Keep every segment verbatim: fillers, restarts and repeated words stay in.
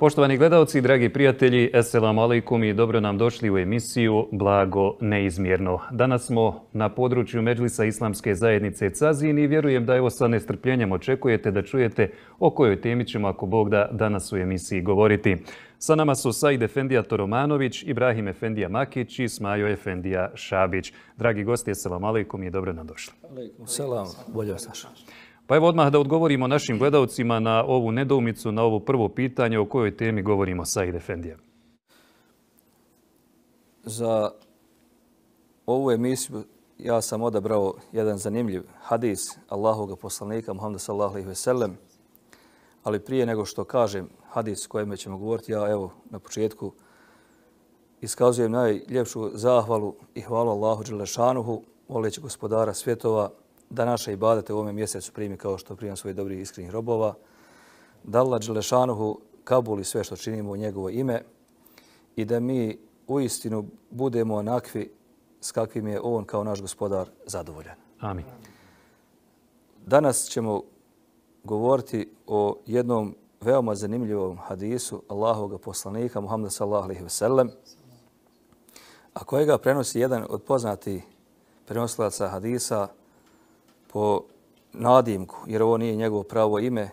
Poštovani gledalci, dragi prijatelji, eselamu alejkum i dobro nam došli u emisiju Blago neizmjerno. Danas smo na području Medžlisa Islamske zajednice Cazin i vjerujem da evo sa nestrpljenjem očekujete da čujete o kojoj temi ćemo, ako Bog da, danas u emisiji govoriti. Sa nama su Said Efendija Toromanović, Ibrahim Efendija Makić i Smajo Efendija Šabić. Dragi gosti, eselamu alejkum i dobro nam došli. Alejkum selam, bolje vas našao. Pa evo odmah da odgovorimo našim gledalcima na ovu nedoumicu, na ovo prvo pitanje o kojoj temi govorimo, Said Efendija. Za ovu emisiju ja sam odabrao jedan zanimljiv hadis Allahovog poslanika Muhameda sallallahu alejhi ve sellem, ali prije nego što kažem hadis kojem ćemo govoriti, ja evo na početku iskazujem najljepšu zahvalu i hvalu Allahu dželle šanuhu, moleći gospodara svjetova da naše ibadete u ovome mjesecu primi kao što primam svojih dobrih iskrenih robova, da Allah dželle šanuhu kabuli sve što činimo u njegovo ime i da mi uistinu budemo onakvi s kakvim je on kao naš gospodar zadovoljan. Amin. Danas ćemo govoriti o jednom veoma zanimljivom hadisu Allahovog poslanika Muhameda sallallahu alejhi ve sellem, a kojega prenosi jedan od poznatih prenosilaca hadisa po nadimku, jer ovo nije njegovo pravo ime,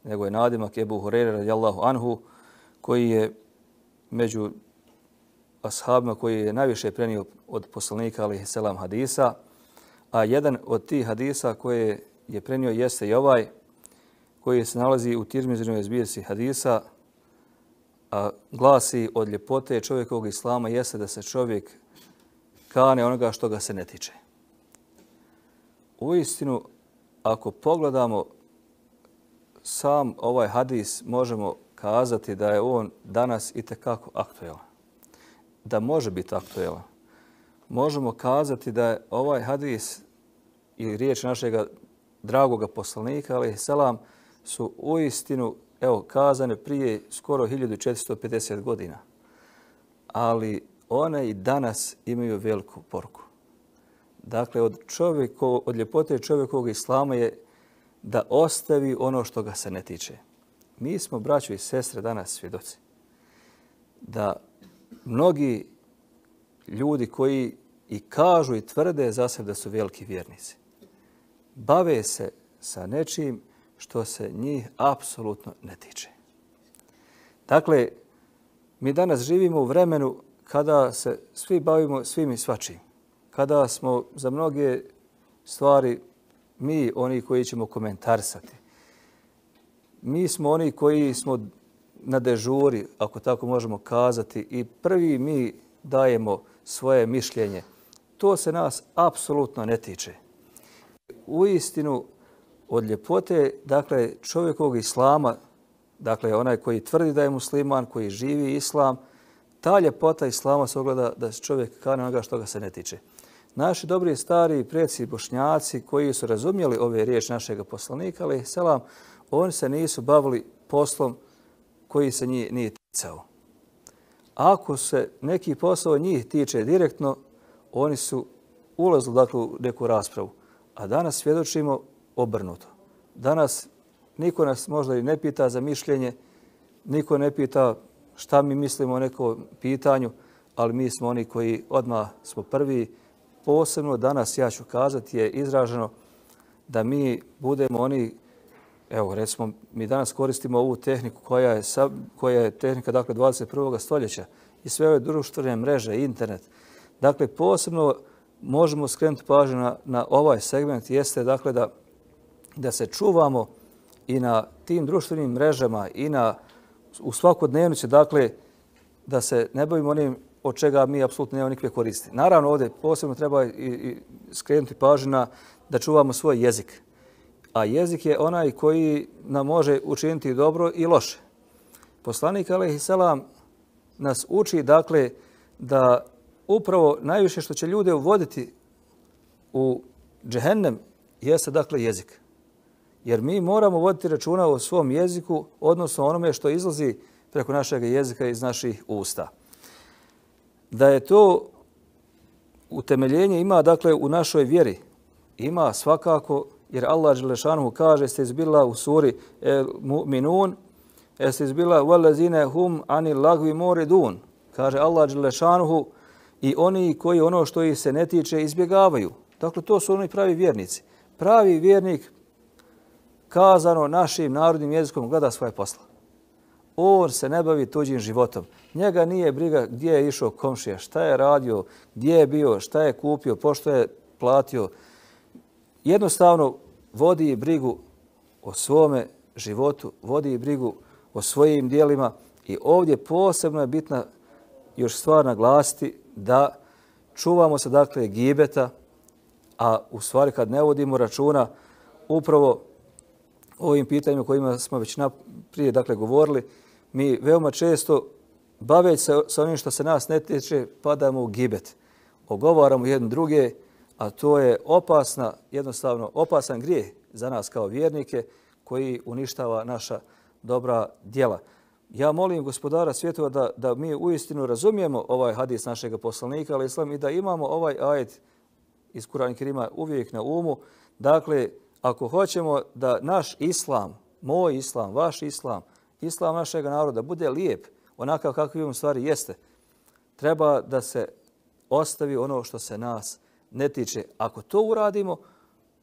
nego je nadimak Ebu Hurajre radijallahu anhu, koji je među ashabima koji je najviše prenio od poslanika alejhi selam hadisa, a jedan od tih hadisa koje je prenio jeste i ovaj, koji se nalazi u Tirmizinovoj zbirci hadisa, a glasi: od ljepote čovjekovog islama jeste da se čovjek kane onoga što ga se ne tiče. Uistinu, ako pogledamo sam ovaj hadis, možemo kazati da je on danas itekako aktuelan. Da može biti aktuelan. Možemo kazati da je ovaj hadis i riječ našeg dragoga poslanika alejhi selam su uistinu evo kazane prije skoro hiljadu četiristo pedeset godina. Ali one i danas imaju veliku poruku. Dakle, od, čovjeko, od ljepote čovjekovog islama je da ostavi ono što ga se ne tiče. Mi smo, braćo i sestre, danas svjedoci da mnogi ljudi koji i kažu i tvrde za sebe da su veliki vjernici, bave se sa nečim što se njih apsolutno ne tiče. Dakle, mi danas živimo u vremenu kada se svi bavimo svim i svačim. Kada smo za mnoge stvari mi oni koji ćemo komentarisati. Mi smo oni koji smo na dežuri, ako tako možemo kazati, i prvi mi dajemo svoje mišljenje. To se nas apsolutno ne tiče. Uistinu, od ljepote, dakle, čovjekovog islama, dakle, onaj koji tvrdi da je musliman, koji živi islam, ta ljepota islama se ogleda da se čovjek kane onoga što ga se ne tiče. Naši dobri stari preci Bošnjaci koji su razumjeli ove riječi našeg poslanika, alejhi selam, oni se nisu bavili poslom koji se njih nije ticao. Ako se neki posao njih tiče direktno, oni su ulazili dakle, u neku raspravu. A danas svjedočimo obrnuto. Danas niko nas možda i ne pita za mišljenje, niko ne pita šta mi mislimo o nekom pitanju, ali mi smo oni koji odmah smo prvi. Posebno danas, ja ću kazati, je izraženo da mi budemo oni, evo recimo, mi danas koristimo ovu tehniku koja je, koja je tehnika dakle, dvadeset prvog stoljeća i sve ove društvene mreže, internet. Dakle, posebno možemo skrenuti pažnju na, na ovaj segment, jeste dakle da, da se čuvamo i na tim društvenim mrežama i na, u svakodnevnici, dakle, da se ne bavimo onim od čega mi apsolutno nemamo nikakve koristi. Naravno, ovdje posebno treba i, i skrenuti pažnju na da čuvamo svoj jezik. A jezik je onaj koji nam može učiniti dobro i loše. Poslanik alejhi selam nas uči, dakle, da upravo najviše što će ljude uvoditi u džehennem jeste, dakle, jezik. Jer mi moramo voditi računa o svom jeziku, odnosno onome što izlazi preko našeg jezika iz naših usta. Da je to utemeljenje ima, dakle, u našoj vjeri. Ima svakako, jer Allah dželle šanuhu kaže, ste izbila u suri El Mu'minun, Jeste izbila وَلَّذِينَ هُمْ عَنِ اللَّغْوِ مُعْرِضُونَ. Kaže Allah dželle šanuhu i oni koji ono što ih se ne tiče izbjegavaju. Dakle, to su oni pravi vjernici. Pravi vjernik, kazano našim narodnim jezikom, gleda svoje posla. On se ne bavi tuđim životom. Njega nije briga gdje je išao komšija, šta je radio, gdje je bio, šta je kupio, pošto je platio. Jednostavno vodi brigu o svome životu, vodi brigu o svojim dijelima i ovdje posebno je bitna još stvar naglasiti da čuvamo se dakle gibeta, a u stvari kad ne vodimo računa upravo ovim pitanjima kojima smo već prije dakle govorili, mi veoma često baveći se sa onim što se nas ne tiče padamo u gibet. Ogovaramo jedno druge, a to je opasna, jednostavno opasan grijeh za nas kao vjernike koji uništava naša dobra djela. Ja molim gospodara svjetova da, da mi uistinu razumijemo ovaj hadis našeg poslanika, ali islam, i da imamo ovaj ajet iz Kur'ana Kerima uvijek na umu. Dakle, ako hoćemo da naš islam, moj islam, vaš islam, islam našeg naroda bude lijep, onakav kakvi on stvari jeste, treba da se ostavi ono što se nas ne tiče. Ako to uradimo,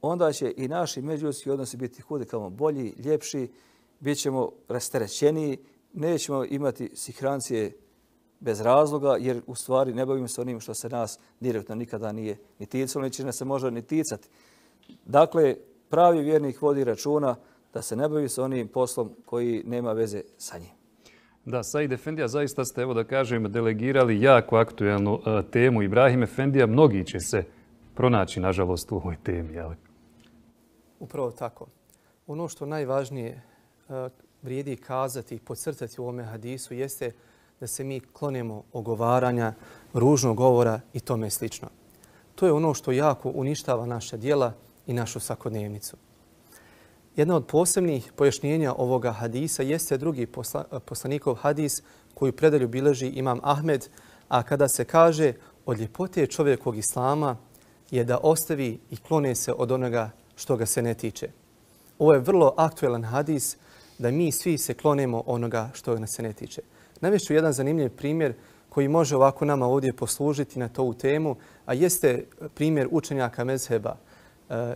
onda će i naši međuljudski odnosi biti kudikamo bolji, ljepši, bit ćemo rasterećeniji, nećemo imati sihrancije bez razloga, jer u stvari ne bavimo se onim što se nas direktno nikada nije ni ticalo, neće nas se možda ni ticati. Dakle, pravi vjernik vodi računa da se ne bavi sa onim poslom koji nema veze sa njim. Da, Said Efendija, zaista ste, evo da kažem, delegirali jako aktuelnu uh, temu. Ibrahim Efendija, mnogi će se pronaći, nažalost, u ovoj temi. Ali... Upravo tako. Ono što najvažnije uh, vrijedi kazati i podcrtati u ovome hadisu jeste da se mi klonemo ogovaranja, ružnog govora i tome slično. To je ono što jako uništava naša djela i našu svakodnevnicu. Jedna od posebnih pojašnjenja ovoga hadisa jeste drugi posla, poslanikov hadis koji predalju bilježi imam Ahmed, a kada se kaže od ljepote čovjekog islama je da ostavi i klone se od onoga što ga se ne tiče. Ovo je vrlo aktuelan hadis da mi svi se klonemo onoga što nas se ne tiče. Navešću jedan zanimljiv primjer koji može ovako nama ovdje poslužiti na tu temu, a jeste primjer učenjaka mezheba.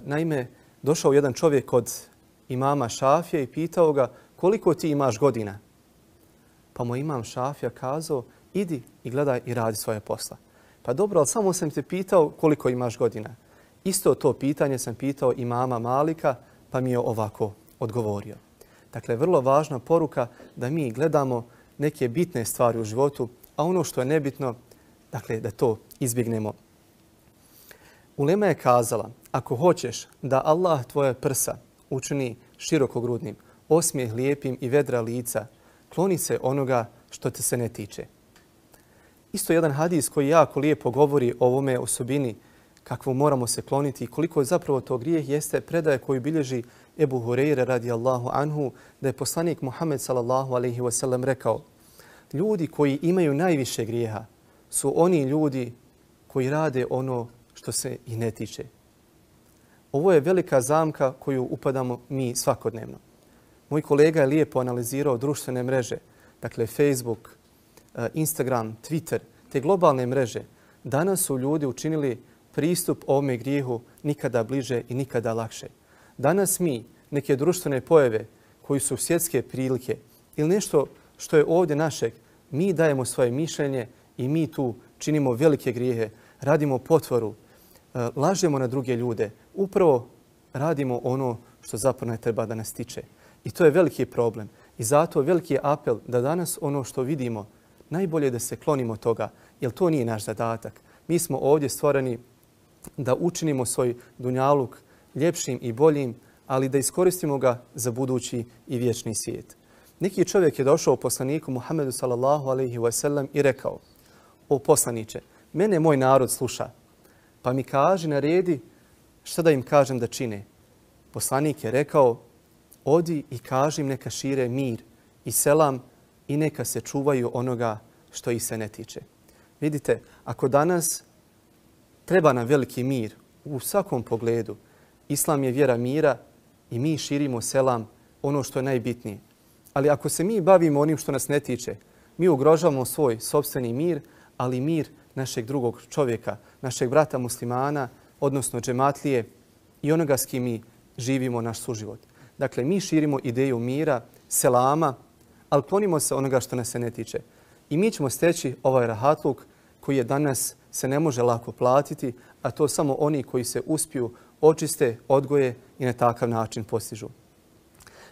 Naime, došao jedan čovjek od imama Šafija i pitao ga koliko ti imaš godina. Pa mu imam Šafija kazao idi i gledaj i radi svoje posla. Pa dobro, ali samo sam te pitao koliko imaš godina. Isto to pitanje sam pitao imama Malika pa mi je ovako odgovorio. Dakle, vrlo važna poruka da mi gledamo neke bitne stvari u životu, a ono što je nebitno, dakle, da to izbjegnemo. Ulema je kazala, ako hoćeš da Allah tvoje prsa učini širokogrudnim, osmijeh lijepim i vedra lica, kloni se onoga što te se ne tiče. Isto jedan hadis koji jako lijepo govori o ovome osobini kakvu moramo se kloniti i koliko je zapravo to grijeh jeste predaje koju bilježi Ebu Hureyre radijallahu anhu da je poslanik Muhammed sallallahu alaihi wasallam rekao ljudi koji imaju najviše grijeha su oni ljudi koji rade ono što se i ne tiče. Ovo je velika zamka koju upadamo mi svakodnevno. Moj kolega je lijepo analizirao društvene mreže, dakle Facebook, Instagram, Twitter, te globalne mreže. Danas su ljudi učinili pristup ovome grijehu nikada bliže i nikada lakše. Danas mi neke društvene pojave koji su svjetske prilike ili nešto što je ovdje našeg, mi dajemo svoje mišljenje i mi tu činimo velike grijehe, radimo potvoru, lažemo na druge ljude, upravo radimo ono što zapravo ne treba da nas tiče. I to je veliki problem. I zato veliki je apel da danas ono što vidimo, najbolje da se klonimo toga, jer to nije naš zadatak. Mi smo ovdje stvoreni da učinimo svoj dunjaluk ljepšim i boljim, ali da iskoristimo ga za budući i vječni svijet. Neki čovjek je došao poslaniku Muhammedu sallallahu alaihi wasallam i rekao: o poslaniče, mene moj narod sluša, pa mi kaži, naredi šta da im kažem da čine. Poslanik je rekao: odi i kaži im neka šire mir i selam i neka se čuvaju onoga što ih se ne tiče. Vidite, ako danas treba nam veliki mir u svakom pogledu, Islam je vjera mira i mi širimo selam, ono što je najbitnije. Ali ako se mi bavimo onim što nas ne tiče, mi ugrožavamo svoj sopstveni mir, ali mir našeg drugog čovjeka, našeg brata muslimana, odnosno džematlije i onoga s kim mi živimo naš suživot. Dakle, mi širimo ideju mira, selama, ali klonimo se onoga što nas se ne tiče. I mi ćemo steći ovaj rahatluk koji je danas se ne može lako platiti, a to samo oni koji se uspiju, očiste, odgoje i na takav način postižu.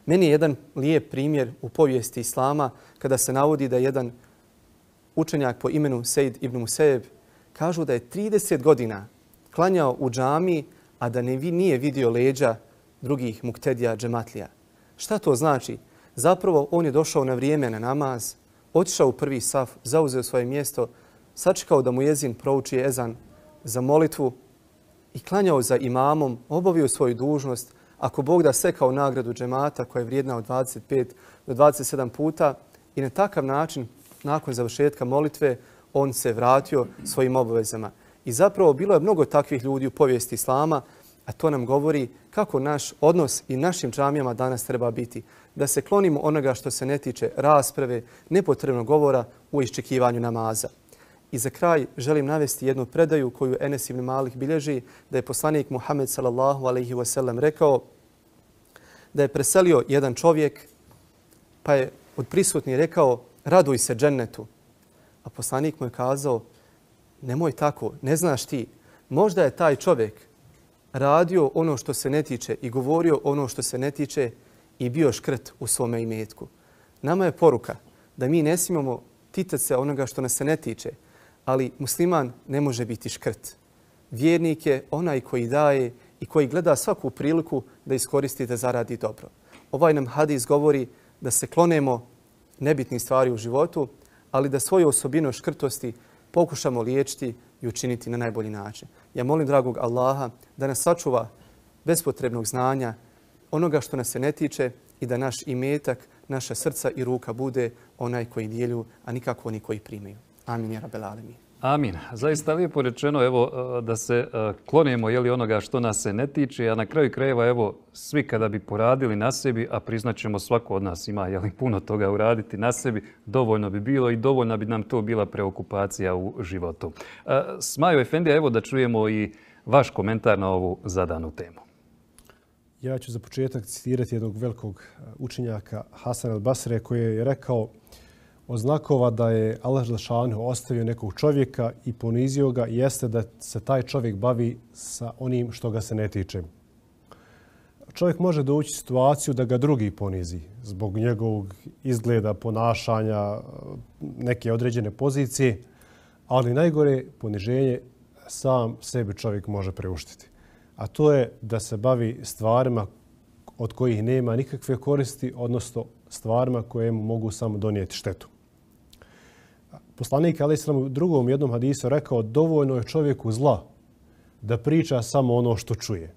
Meni je jedan lijep primjer u povijesti Islama kada se navodi da jedan učenjak po imenu Sejd ibn Musejeb kažu da je trideset godina klanjao u džamiji, a da ne nije vidio leđa drugih muktedija džematlija. Šta to znači? Zapravo on je došao na vrijeme na namaz, otišao u prvi saf, zauzeo svoje mjesto, sačekao da mu jezin prouči ezan za molitvu i klanjao za imamom, obavio svoju dužnost, ako Bog da sekao nagradu džemata koja je vrijedna od dvadeset pet do dvadeset sedam puta i na takav način, nakon završetka molitve, on se vratio svojim obavezama. I zapravo bilo je mnogo takvih ljudi u povijesti Islama, a to nam govori kako naš odnos i našim džamijama danas treba biti. Da se klonimo onoga što se ne tiče rasprave, nepotrebnog govora u iščekivanju namaza. I za kraj želim navesti jednu predaju koju Enes ibn Malik bilježi, da je poslanik Muhammed sallallahu alejhi ve sellem rekao da je preselio jedan čovjek, pa je od prisutnih rekao raduj se džennetu. A poslanik mu je kazao nemoj tako, ne znaš ti. Možda je taj čovjek radio ono što se ne tiče i govorio ono što se ne tiče i bio škrt u svome imetku. Nama je poruka da mi ne smijemo ticati se onoga što nas se ne tiče, ali musliman ne može biti škrt. Vjernik je onaj koji daje i koji gleda svaku priliku da iskoristi da zaradi dobro. Ovaj nam hadis govori da se klonemo nebitnih stvari u životu, ali da svoju osobinu škrtosti pokušamo liječiti i učiniti na najbolji način. Ja molim dragog Allaha da nas sačuva bespotrebnog znanja, onoga što nas se ne tiče i da naš imetak, naša srca i ruka bude onaj koji dijelju, a nikako oni koji primaju. Amin ja rabbel alemin. Amin. Zaista lijepo rečeno evo, da se klonimo jeli, onoga što nas se ne tiče, a na kraju krajeva evo, svi kada bi poradili na sebi, a priznaćemo svako od nas ima jeli, puno toga uraditi na sebi, dovoljno bi bilo i dovoljno bi nam to bila preokupacija u životu. Smajo Efendija, evo da čujemo i vaš komentar na ovu zadanu temu. Ja ću za početak citirati jednog velikog učenjaka Hasan al-Basre koji je rekao od znakova da je Allah dželešanu ostavio nekog čovjeka i ponizio ga jeste da se taj čovjek bavi sa onim što ga se ne tiče. Čovjek može doći u situaciju da ga drugi ponizi zbog njegovog izgleda, ponašanja, neke određene pozicije, ali najgore poniženje sam sebi čovjek može preuštiti. A to je da se bavi stvarima od kojih nema nikakve koristi, odnosno stvarima koje mu mogu samo donijeti štetu. Poslanik alejhi selam u drugom jednom hadisu rekao dovoljno je čovjeku zla da priča samo ono što čuje.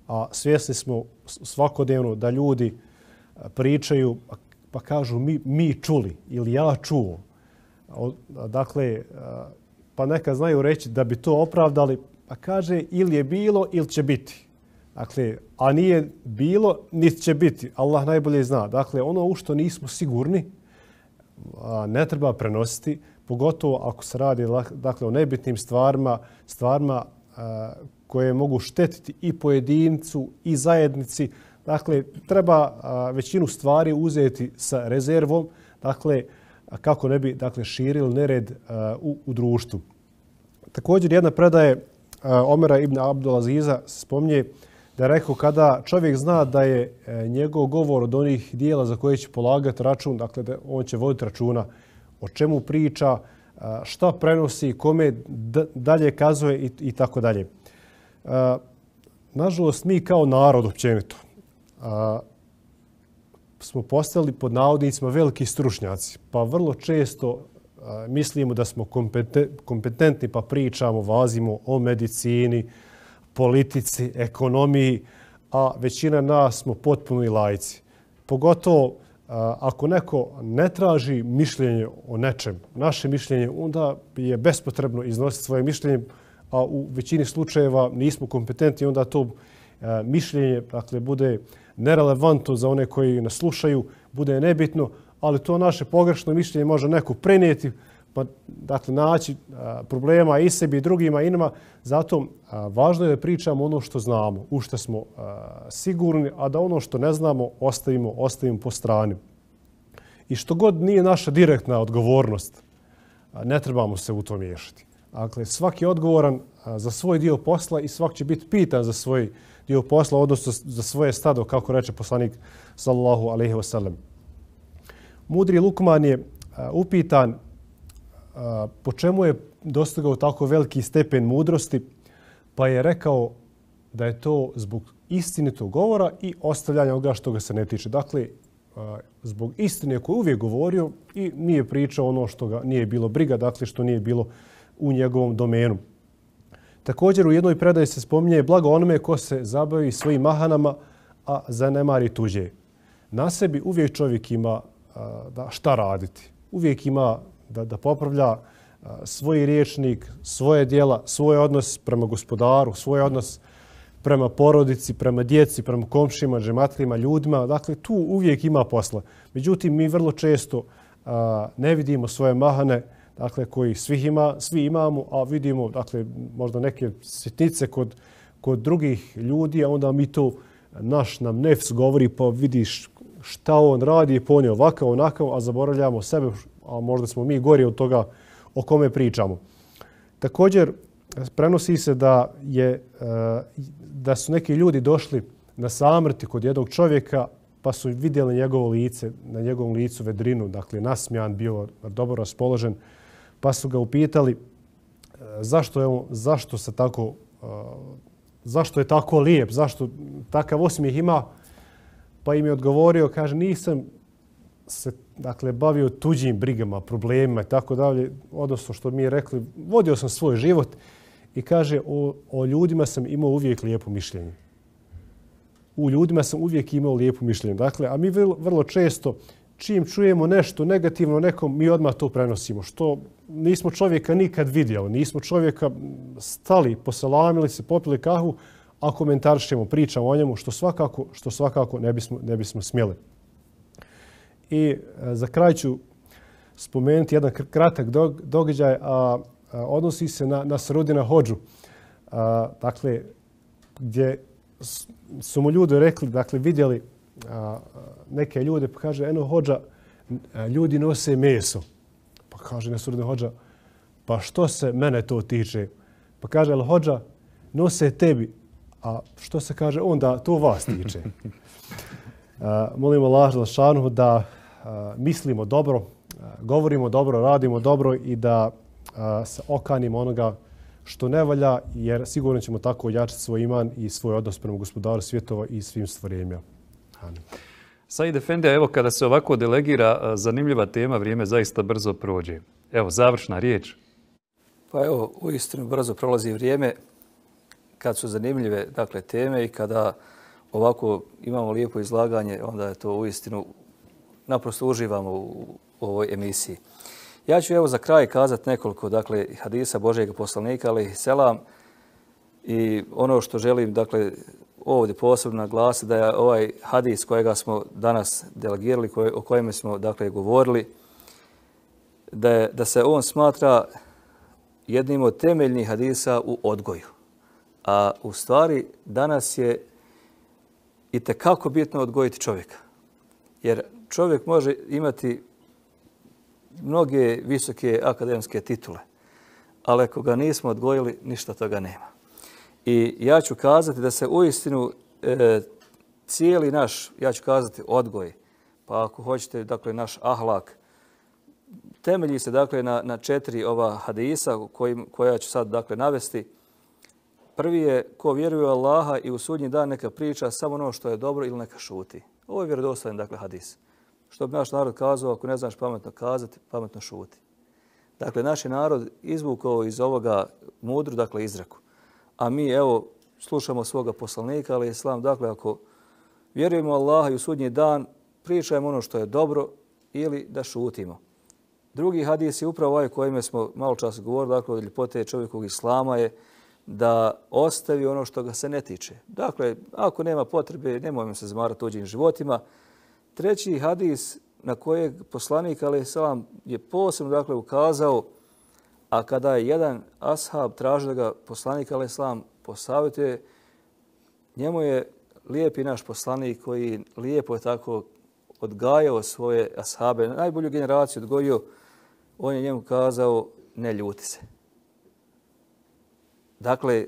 A svjesni smo svakodnevno da ljudi pričaju pa kažu mi, mi čuli ili ja čuo. Dakle, pa neka znaju reći da bi to opravdali, pa kaže ili je bilo ili će biti. Dakle, a nije bilo, niti će biti. Allah najbolje zna. Dakle, ono u što nismo sigurni ne treba prenositi, pogotovo ako se radi dakle, o nebitnim stvarima, stvarima koje mogu štetiti i pojedincu i zajednici. Dakle, treba većinu stvari uzeti sa rezervom, dakle, kako ne bi dakle, širili nered u, u društvu. Također, jedna predaje Omera ibn Abdulaziza spominje da je rekao kada čovjek zna da je njegov govor od onih dijela za koje će polagati račun, dakle da on će voditi računa o čemu priča, šta prenosi, kome dalje kazuje i, i tako dalje. Nažalost, mi kao narod općenito smo postali pod navodnicima veliki stručnjaci, pa vrlo često mislimo da smo kompetentni pa pričamo, vazimo o medicini, politici, ekonomiji, a većina nas smo potpuni laici. Pogotovo ako neko ne traži mišljenje o nečem, naše mišljenje, onda je bespotrebno iznositi svoje mišljenje, a u većini slučajeva nismo kompetentni, onda to mišljenje dakle, bude nerelevantno za one koji nas slušaju, bude nebitno, ali to naše pogrešno mišljenje može neko prenijeti, pa dakle naći a, problema i sebi i drugima i nama. Zato a, važno je da pričamo ono što znamo, u što smo a, sigurni, a da ono što ne znamo ostavimo, ostavimo po strani. I što god nije naša direktna odgovornost, a, ne trebamo se u to miješati. Dakle, svaki je odgovoran a, za svoj dio posla i svak će biti pitan za svoj dio posla, odnosno za svoje stado, kako reče poslanik sallallahu alejhi ve sellem. Mudri Lukman je a, upitan a, po čemu je dostigao tako veliki stepen mudrosti, pa je rekao da je to zbog istinitog govora i ostavljanja onoga što ga se ne tiče. Dakle, a, zbog istine koju je uvijek govorio i nije pričao ono što ga nije bilo briga, dakle što nije bilo u njegovom domenu. Također u jednoj predaji se spominje blago onome ko se zabavi svojim mahanama, a zanemari tuđe. Na sebi uvijek čovjek ima a, da šta raditi. Uvijek ima da, da popravlja a, svoj riječnik, svoje djela, svoj odnos prema gospodaru, svoj odnos prema porodici, prema djeci, prema komšima, džematlima, ljudima. Dakle, tu uvijek ima posla. Međutim, mi vrlo često a, ne vidimo svoje mahane, dakle, koji svih ima, svi imamo, a vidimo, dakle, možda neke sitnice kod, kod drugih ljudi, a onda mi to, naš nam nefs govori, pa vidiš šta on radi, pa on je ovakav, onakav, a zaboravljamo sebe, a možda smo mi gori od toga o kome pričamo. Također, prenosi se da, je, da su neki ljudi došli na samrti kod jednog čovjeka, pa su vidjeli njegovo lice, na njegovom licu vedrinu, dakle, nasmijan, bio dobro raspoložen, pa su ga upitali zašto je on, zašto se tako, zašto je tako lijep, zašto takav osmijeh ima, pa im je odgovorio, kaže, nisam se dakle bavio tuđim brigama, problemima i tako dalje, odnosno što mi je rekli, vodio sam svoj život i kaže, o, o ljudima sam imao uvijek lijepo mišljenje. U ljudima sam uvijek imao lijepo mišljenje. Dakle, a mi vrlo, vrlo često čim čujemo nešto negativno nekom, mi odmah to prenosimo. Što nismo čovjeka nikad vidjeli, nismo čovjeka stali, poselamili se, popili kahu, a komentarišemo, pričamo o njemu, što svakako, što svakako ne bismo, ne bismo smjeli. I e, za kraj ću spomenuti jedan kratak dog, događaj, a, a odnosi se na, na Sarudina hodžu. A, dakle, gdje su mu ljudi rekli, dakle, vidjeli a, neke ljude, pa kaže, eno hodža, ljudi nose meso. Pa kaže Nasrudin hodža, pa što se mene to tiče? Pa kaže, ali hodža, nose tebi, a što se kaže, onda to vas tiče. A, molimo Allah Želešanuhu da a, mislimo dobro, a, govorimo dobro, radimo dobro i da a, se okanimo onoga što ne valja, jer sigurno ćemo tako ojačati svoj iman i svoj odnos prema gospodaru svjetova i svim stvorenjima. Amin. Said Efendi, evo kada se ovako delegira zanimljiva tema, vrijeme zaista brzo prođe. Evo, završna riječ. Pa evo, uistinu brzo prolazi vrijeme kad su zanimljive dakle, teme i kada ovako imamo lijepo izlaganje, onda je to uistinu naprosto uživamo u ovoj emisiji. Ja ću evo za kraj kazati nekoliko dakle, hadisa Božjeg poslanika, alejhi selam, i ono što želim dakle, ovdje posebno naglasiti da je ovaj hadis kojega smo danas delegirali, koj, o kojem smo dakle, govorili, da, je, da se on smatra jednim od temeljnih hadisa u odgoju. A u stvari danas je i tekako bitno odgojiti čovjeka. Jer čovjek može imati mnoge visoke akademske titule, ali ako ga nismo odgojili, ništa toga nema. I ja ću kazati da se uistinu e, cijeli naš, ja ću kazati odgoj, pa ako hoćete, dakle, naš ahlak, temelji se dakle na, na četiri ova hadisa kojim, koja ću sad dakle navesti. Prvi je ko vjeruje u Allaha i u sudnji dan neka priča samo ono što je dobro ili neka šuti. Ovo je vjerodostojan dakle hadis. Što bi naš narod kazao, ako ne znaš pametno kazati, pametno šuti. Dakle, naš je narod izvukao iz ovoga mudru, dakle, izreku. A mi, evo, slušamo svoga poslanika, ali islam, dakle, ako vjerujemo u Allaha i u sudnji dan, pričajmo ono što je dobro ili da šutimo. Drugi hadis je upravo ovaj kojime smo malo čas govorili, dakle, od ljepote čovjekovog islama je da ostavi ono što ga se ne tiče. Dakle, ako nema potrebe, nemojmo se zamarati tuđim životima. treći hadis na kojeg poslanik alejhi selam je posebno dakle ukazao, a kada je jedan ashab tražio da ga poslanik alejhi selam posavjetuje, njemu je lijepi naš poslanik koji lijepo je tako odgajao svoje ashabe, najbolju generaciju odgojio, on je njemu kazao ne ljuti se. Dakle,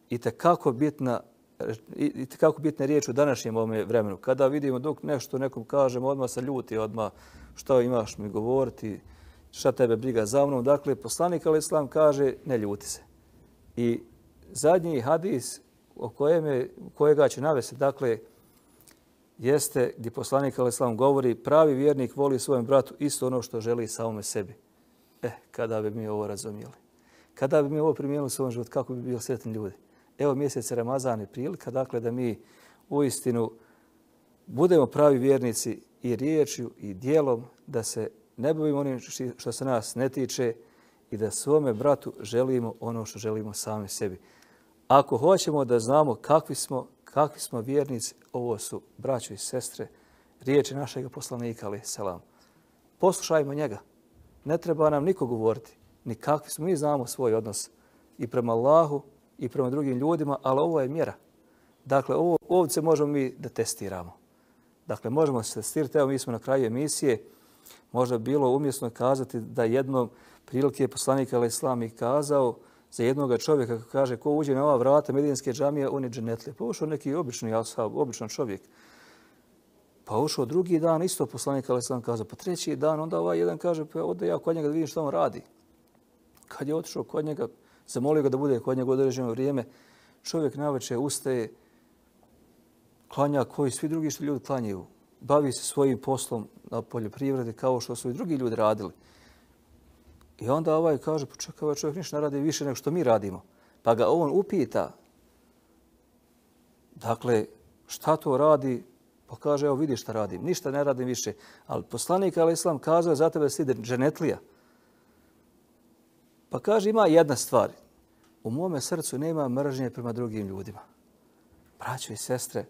i tekako bitna i tekako bitna riječ u današnjem ovome vremenu. Kada vidimo dok nešto nekom kažemo, odmah se ljuti, odmah što imaš mi govoriti, šta tebe briga za mnom. Dakle, poslanik alejhi selam kaže ne ljuti se. I zadnji hadis o kojem je, kojega će navesti, dakle, jeste gdje poslanik alejhi selam govori pravi vjernik voli svojem bratu isto ono što želi samome sebi. Eh, kada bi mi ovo razumijeli? Kada bi mi ovo primijenili u svom životu, kako bi bili sretni ljudi? Evo mjesec Ramazan je prilika, dakle, da mi uistinu budemo pravi vjernici i riječju i dijelom, da se ne bavimo onim što se nas ne tiče i da svome bratu želimo ono što želimo sami sebi. Ako hoćemo da znamo kakvi smo, kakvi smo vjernici, ovo su braćo i sestre, riječi našeg poslanika alejhi selam. Poslušajmo njega. Ne treba nam niko govoriti, ni kakvi smo. Mi znamo svoj odnos i prema Allahu i prema drugim ljudima, ali ovo je mjera. Dakle, ovo, ovdje možemo mi da testiramo. Dakle, možemo se testirati. Evo, mi smo na kraju emisije. Možda bilo umjesno kazati da jednom prilike je poslanik alejhi selam i kazao za jednog čovjeka, kako kaže, ko uđe na ova vrata Medinske džamije, on je dženetlija. Pa ušao neki obični ashab, običan čovjek. Pa ušao drugi dan, isto poslanik alejhi selam kazao, pa treći dan, onda ovaj jedan kaže, pa ode ja kod njega da vidim što on radi. Kad je otišao kod njega, zamolio ga da bude kod njega određeno vrijeme, čovjek navečer ustaje, klanja koji svi drugi što ljudi klanjaju. Bavi se svojim poslom na poljoprivredi kao što su i drugi ljudi radili. I onda ovaj kaže, pa čekaj, ovaj čovjek ništa ne radi više nego što mi radimo. Pa ga on upita, dakle, šta to radi? Pa kaže, evo vidi šta radim, ništa ne radim više. Ali poslanik alejhi selam kazao je za tebe da si dženetlija. Pa kaže, ima jedna stvar. U mome srcu nema mržnje prema drugim ljudima. Braćo i sestre,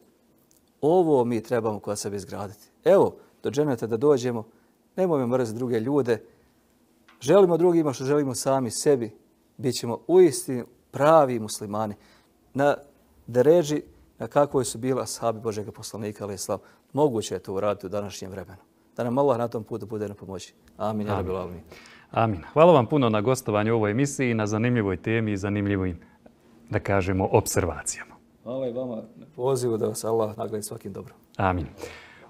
ovo mi trebamo kod sebe izgraditi. Evo, do dženeta da dođemo, nemojmo mrziti druge ljude, želimo drugima što želimo sami sebi, bit ćemo uistinu pravi muslimani. Na deređi na kakvoj su bila ashabi Božega poslanika alejhi selam. Moguće je to uraditi u današnjem vremenu. Da nam Allah na tom putu bude na pomoći. Amin. Amin. Amin. Amin. Hvala vam puno na gostovanju u ovoj emisiji, na zanimljivoj temi i zanimljivim, da kažemo, observacijama. Hvala i vama na pozivu da vas Allah nagradi svakim dobrom. Amin.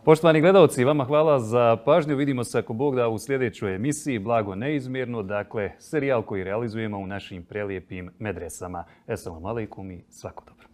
Poštovani gledalci, vama hvala za pažnju. Vidimo se ako Bog da u sljedećoj emisiji Blago neizmjerno, dakle serijal koji realizujemo u našim prelijepim medresama. Esselamu alejkum i svako dobro.